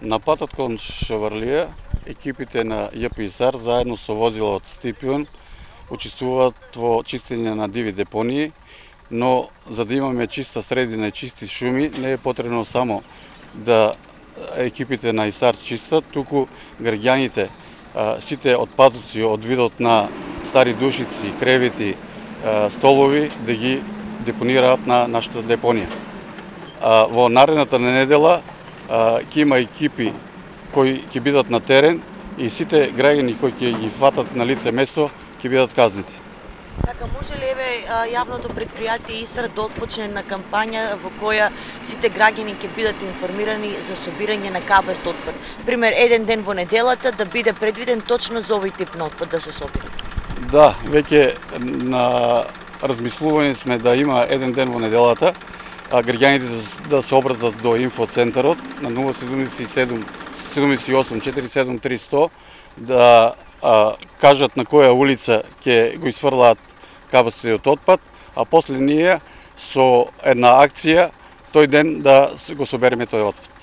На патот кон Шеварлија, екипите на ЈПИСАР заедно со возило од Стипион учествуваат во чистење на диви депонии, но за да имаме чиста средина и чисти шуми, не е потребно само да екипите на ИСАР чистат, туку граѓаните сите отпадоци од видот на стари душици, кревети, столови да ги депонираат на нашата депонија. Во наредната недела ќе има екипи кои ќе бидат на терен и сите граѓани кои ќе ги фатат на лице место ќе бидат казнети. Така, може ли јавното предпријатие ИСАР да отпочне на кампања во која сите граѓани ќе бидат информирани за собирање на кабест отпад? Пример, еден ден во неделата да биде предвиден точно за овој тип на отпад да се собира? Да, веќе на размислување сме да има еден ден во неделата, граѓаните да се обратат до инфоцентарот на 077 78 47 300 да кажат на која улица ќе го изфрлаат кабестиот отпад, а после ние со една акција тој ден да го собереме тој отпад.